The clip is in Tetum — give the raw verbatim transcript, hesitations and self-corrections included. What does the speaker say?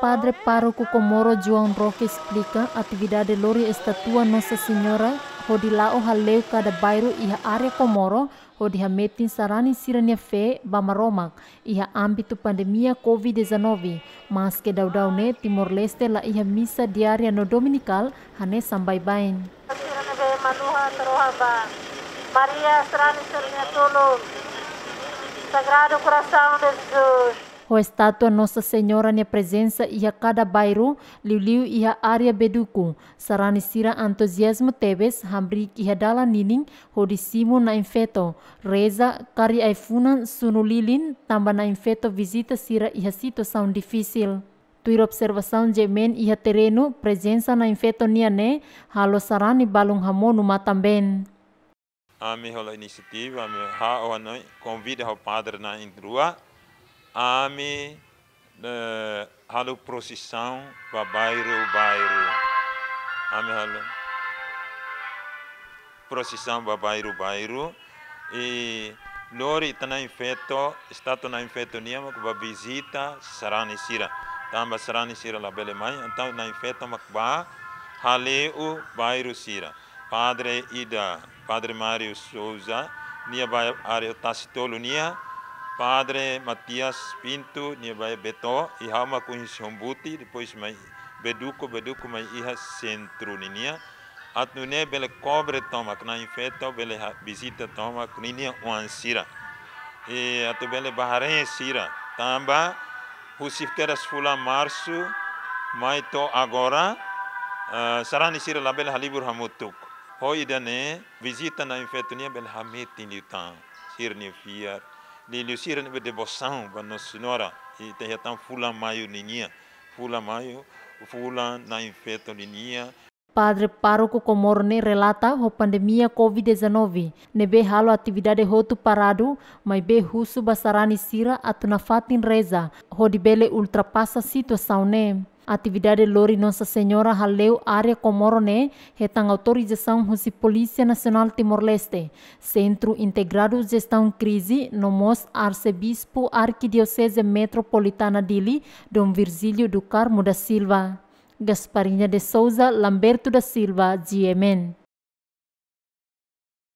Padre Pároku Comoro João Roque esplika atividade lori estátua Nossa Senhora hodi la'o hale'u kada bairru iha área Comoro hodi hametin sarani sira-nia fé ba Maromak iha ámbitu pandemia covid dezanove, maske daudaun ne'e Timor-Leste la iha misa diária no dominikál hanesan baibain. Sira ne'ebé manuha taroha ba Maria sarani sira-nia tulun. Sagrado Coração de Jesus. Ho estátua Nossa Senhora nia prezensa iha kada bairru, liuliu iha área Beduku, sarani sira entuziazmu tebes hamriik iha dalan ninin hodi simu Na'in Feto, reza, kari ai-funan, sunu lilin, tanba Na'in Feto vizita sira iha situasaun difisil. Tuir observasaun GMN iha terrenu, prezensa Na'in Feto nian ne'e halo sarani balun hamonu matan-been. Ami hola inisiativa, ami ha'u hanoin, konvida ho padre na'in-rua, ami, eh, halo prosisaun ba bairru-bairru. Ami halo prosisaun ba bairru-bairru. I lori ita Na'in Feto, estátua Na'in Feto nian mak ba vizita sarani sira. Tanba sarani sira labele mai, entaun Na'in Feto mak ba hale'u bairru sira. Padre ida, Padre Mário Souza, nia ba área Tasitolu nian, Padre Matias Pinto, nia ba Beto, i ha'u mak husi Hombuti, depois mai Beduku, Beduku mai iha sentru ninian. Atu nune'e bele kobre tomak, Na'in Feto bele ha-, vizita tomak ninia oan sira. I atu bele ba haree sira. Tanba husi kedas fulan Marsu mai to'o agora, eh, sarani sira labele halibur hamutuk. Ho ida-ne'e, vizita Na'in Feto nian bele hametin liután sira-nia fiar. Liuliu sira ne'ebé devosaun ba Nossa Senhora, i ita hetan fulan Maiu ninian. Fulan Maiu, fulan Na'in Feto ninian. Padre Pároku Comoro ne'e relata ho pandemia covid dezanove ne'ebé halo atividade hotu paradu, maibé husu ba sarani sira atu nafatin reza hodi bele ultrapasa situasaun ne'e. Atividade lori Nossa Senhora hale'u área Comoro ne'e hetan autorizasaun husi Polísia Nasionál Timor-Leste, Sentru Integradu Jestaun Krize, no mós Arsebispu Arkidioseze Metropolitana Dili, Dom Virgílio do Carmo da Silva. Gasparinha de Souza, Lamberto da Silva, GMN.